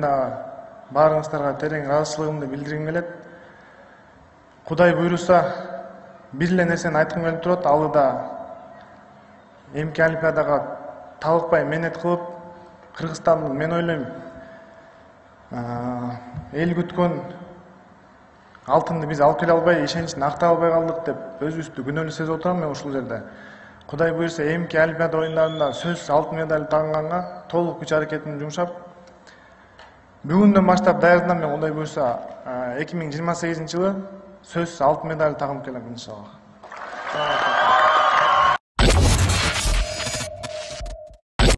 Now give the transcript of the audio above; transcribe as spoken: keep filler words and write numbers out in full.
баарыңыздарга терең ыраазычылыгымды билдиргим келет. Кудай буйруса, бир эле нерсени айткым келип турат. Ал да эмки олимпиадага талыкпай мээнет кылып, Кыргызстандын, мен ойлойм, эл күткөн алтынды биз алып келе албай, ишеничин актай албай калдык деп өзүбүздү күнөөлүү сезип отурам мен ушул жерде. Кудай буйруса, эмки олимпиада оюндарында сөзсүз алтын медаль тагынганга толук күч аракетимди жумшап, бүгүндөн баштап даярданам. Мен Кудай буйруса, эки миң жыйырма сегизинчи жылы сөзсүз алтын медаль тагып келем иншалла.